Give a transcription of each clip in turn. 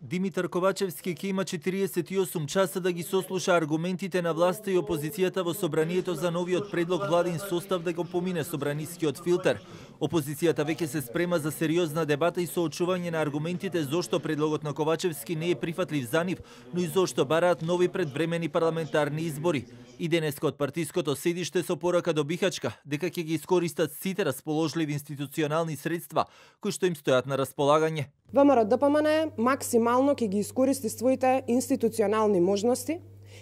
Димитар Ковачевски ќе има 48 часа да ги сослуша аргументите на власта и опозицијата во собранието за новиот предлог владин состав да го помине собранискиот филтер. Опозицијата веќе се спрема за сериозна дебата и соочување на аргументите зошто предлогот на Ковачевски не е прифатлив за нив, но и зошто бараат нови предвремени парламентарни избори. И денеска од партиското седиште со порака до Бихачка дека ќе ги искористат сите расположливи институционални средства кои што им стојат на располагање. ВМРО-ДПМН максимално ќе ги искористи своите институционални можности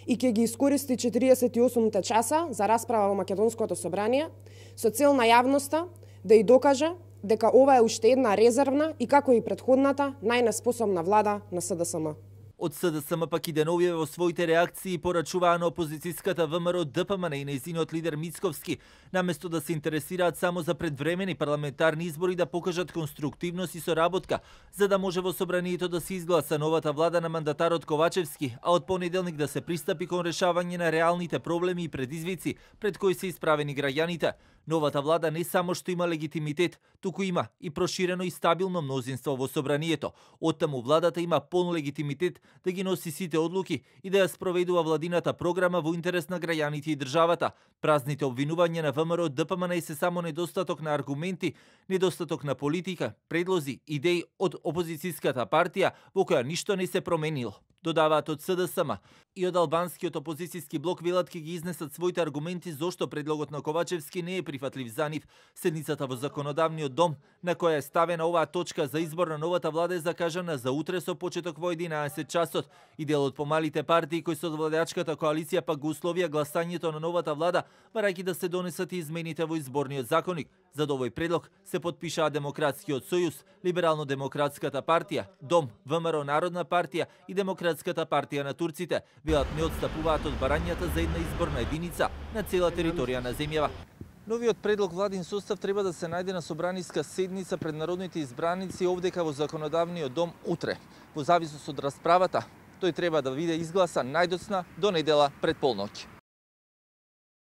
и ќе ги искористи 48 часа за расправа во Македонското собрание со цел на јавноста да и докаже дека ова е уште една резервна и како и претходната најнеспособна влада на СДСМ. Од СДСМ пак и деновиве во своите реакции порачуваа на опозицијската ВМРО-ДПМН и нејзиниот лидер Мицковски, наместо да се интересираат само за предвремени парламентарни избори да покажат конструктивност и соработка, за да може во собранието да се изгласа новата влада на мандатарот Ковачевски, а од понеделник да се пристапи кон решавање на реалните проблеми и предизвици пред кои се исправени граѓаните. Новата влада не само што има легитимитет, туку има и проширено и стабилно мнозинство во собранието. Оттаму владата има полн легитимитет да ги носи сите одлуки и да ја спроведува владината програма во интерес на граѓаните и државата. Празните обвинувања на ВМРО-ДПМН се само недостаток на аргументи, недостаток на политика, предлози, идеи од опозицијската партија во која ништо не се променило. Додаваат од СДСМ и од албанскиот опозицијски блок велат ќе ги изнесат своите аргументи зошто предлогот на Ковачевски не е прифатлив за нив. Седницата во законодавниот дом, на која е ставена оваа точка за избор на новата влада, е закажана за утре со почеток во 11 часот. И дел од помалите партии кои се од владеачката коалиција пак го условија гласањето на новата влада, барајќи да се донесат и измените во изборниот законник. За овој предлог се потпишаа Демократскиот сојуз, Либерално-демократската партија, ДОМ, ВМРО Народна партија и Демократската партија на турците. Велат не отстапуваат од барањата за една изборна единица на цела територија на земјава. Новиот предлог владин состав треба да се најде на собраниска седница пред народните избраници овдека во законодавниот дом утре. Во зависност од расправата, тој треба да биде изгласан најдоцна до недела пред полноќ.